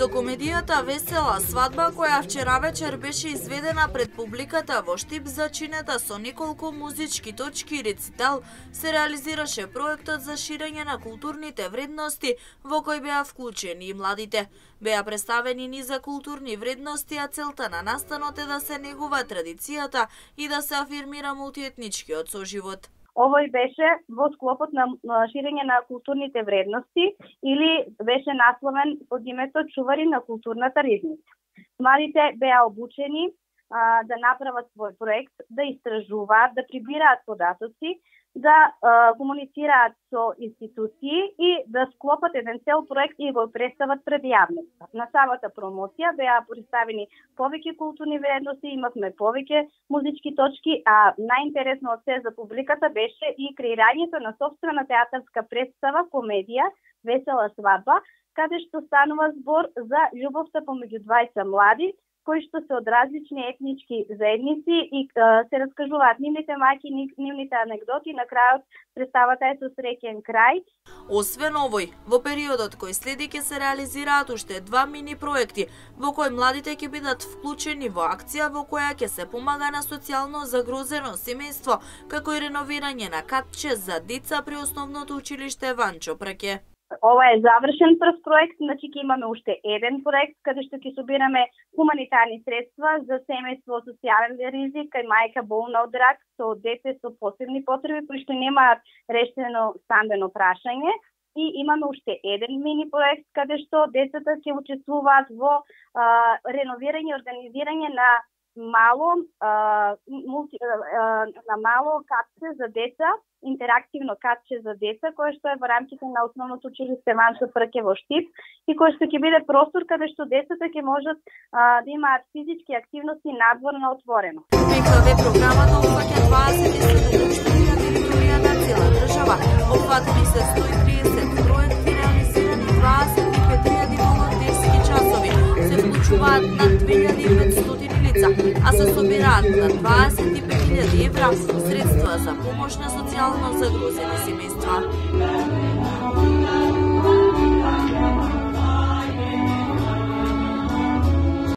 Со комедијата Весела свадба, која вчера вечер беше изведена пред публиката во Штип зачинета со неколку музички точки и рецитал, се реализираше проектот за ширење на културните вредности во кој беа вклучени и младите. Беа представени низа културни вредности, а целта на настанот е да се негува традицијата и да се афирмира мултиетничкиот соживот. Овој беше во склопот на ширење на културните вредности или беше насловен под името Чувари на културната ризница. Младите беа обучени да направат свој проект, да истражуваат, да прибираат податоци, да комуницираат со институции и да склопат еден цел проект и го представат пред јавноста. На самата промоција беа представени повеќе културни вредности, имавме повеќе музички точки, а најинтересно од се за публиката беше и креирањето на сопствена театарска представа, комедија Весела свадба, каде што станува збор за љубовта помеѓу двајца млади, кои што се од различни етнички заедници и се раскажуваат нивните мајки, нивните анегдоти, на крајот представата е со среќен крај. Освен овој, во периодот кој следи ќе се реализираат уште 2 мини проекти, во кои младите ќе бидат вклучени во акција во која ќе се помага на социјално загрозено семејство, како и реновирање на катче за деца при основното училиште Ванчо Праке. Ова е завршен прв проект, значи ќе имаме уште еден проект каде што ќе собираме хуманитарни средства за семејство со социјален ризик, кај мајка болна од рак, со дете со посебни потреби кои што немаат решено стамбено прашање. И имаме уште еден мини проект каде што децата ќе учествуваат во реновирање и организирање на мало катче за деца, интерактивно катче за деца, кое што е во рамките на основното училиште Ванчо Праке во Штип и кое што ќе биде простор каде што децата ќе можат да имаат физички активности надвор на отворено. ПКВ програмата опфаќа 27 општини на територија на цела држава. Опфатени се 130 проекти, реализирани 25.000 волонтерски часови. Се вклучуваат над 2500 лица, а се собираат на 25.000 евра средства за помош на социјално загрозени семејства.